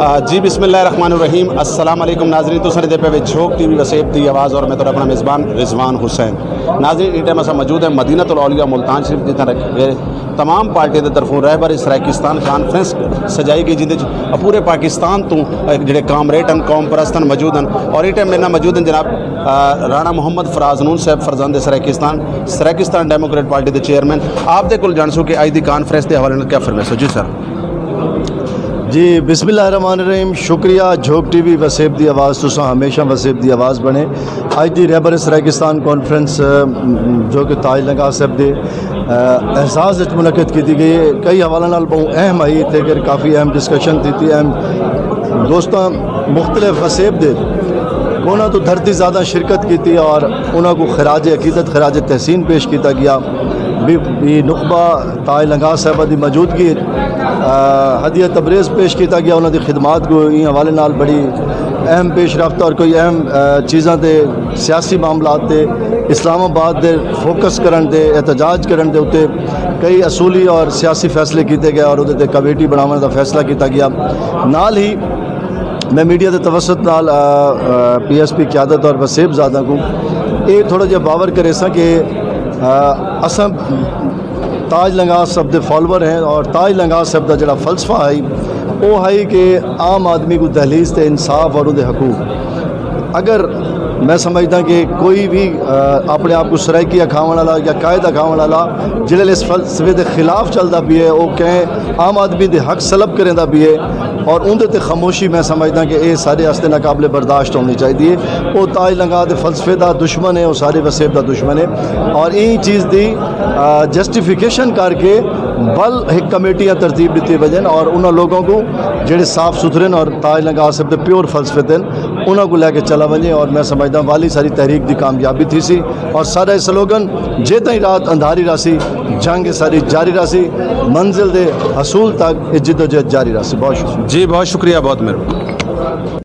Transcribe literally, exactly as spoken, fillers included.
آ، جی، بسم اللہ الرحمن الرحیم۔ السلام علیکم ناظرین، تساں دے پے وچ جھوک ٹی وی وسیب دی آواز اور میں تہاݙا اپݨا میزبان رضوان حسین۔ ناظرین، ایں ٹائم اساں موجود ہیں مدینۃ الاولیاء ملتان شریف، جتھاں رکھ کے تمام پارٹیاں دے طرفوں رہبر سرائیکستان کانفرنس سجائی گئی، جیندے وچ پورے پاکستان توں، آ، جڑے کامریڈ ہن، قوم پرست ہن، موجود ہن۔ اور ایں ٹائم میرے نال موجود ہیں جناب، آ، رانا محمد فراز نون صاحب، فرزند سرائیکستان، سرائیکستان ڈیموکریٹ پارٹی دے چیئرمین۔ آپ دے کول ڄاݨسوں کہ اڄ دی کانفرنس دے حوالے نال کیا فرمیسو؟ جی سر۔ جی، بسم اللہ الرحمن الرحیم۔ شکریہ جھوک ٹی وی وسیب دی آواز، تساں ہمیشہ وسیب دی آواز بݨے۔ اڄ دی رہبر سرائیکستان کانفرنس، م، جو کہ تاج لنگاہ صاحب دے، آ، اعزاز وچ منعقد کیتی ڳئی ہے، کئی حوالے نال ٻہوں اہم ہئی، تے کر کافی اہم ڈسکشن تھیتی، اہم دوستاں مختلف وسیب دے کونا تو دھرتی زیادہ شرکت کیتی اور انہاں کو خراج عقیدت، خراج تحسین پیش کیتا گیا۔ بھی، بھی نخبہ تاج لنگاہ صاحبہ دی موجودگی، آ، ہدیہ تبریز پیش کیتا گیا، انہاں دی خدمات کو ایں حوالے نال بڑی اہم پیش رفت اور کوئی اہم، آ، چیزاں تے، سیاسی معاملات تے، اسلام آباد دے فوکس کرن تے، احتجاج کرن دے اتے کئی اصولی اور سیاسی فیصلے کیتے گئے اور اودے تے کمیٹی بݨاوݨ دا فیصلہ کیتا گیا۔ نال ہی میں میڈیا دے توسط نال، آ، آ، پی ایس پی قیادت اور وسیب زادہ کو اے تھوڑا جہا باور کریساں کہ، آ، اساں تاج لنگاہ صاحب دے فالوور ہیں اور تاج لنگاہ صاحب دا جڑا فلسفہ ہے، او ہے کہ عام آدمی کو دہلیز تے انصاف اور اودے حقوق۔ اگر میں سمجھدا کہ کوئی بھی، آ، اپنے آپ کو سرائیکی اکھاوݨ والا یا قائد اکھاوݨ والا جڑے اس فلسفے دے خلاف چلدا پئے، او کہیں عام آدمی دے حق سلب کریندا پئے اور اوندے تے خاموشی، میں سمجھدا کہ اے سارے واسطے ناقابل برداشت ہونی چاہیے۔ او تاج لنگاہ دے فلسفے دا دشمن ہے، او سارے وسیب دا دشمن ہے اور ایں چیز دی، آ، جسٹیفیکیشن کر کے بل ہک کمیٹیاں ترتیب ݙتی وڄن اور انہاں لوگوں کو جڑے صاف ستھرے ہیں اور تاج لنگاہ صاحب دے پیور فلسفے تے انہاں کو لے کے چلا ونڄے اور میں سمجھدا والی ساری تحریک دی کامیابی تھی سی اور سارا سلوگن جے تائیں رات اندھاری راسی، جنگ ساری جاری راسی، منزل دے حصول تک اے جدوجہد جاری راسی۔ بہت شکریہ۔ جی، بہت شکریہ، بہت مہربانی۔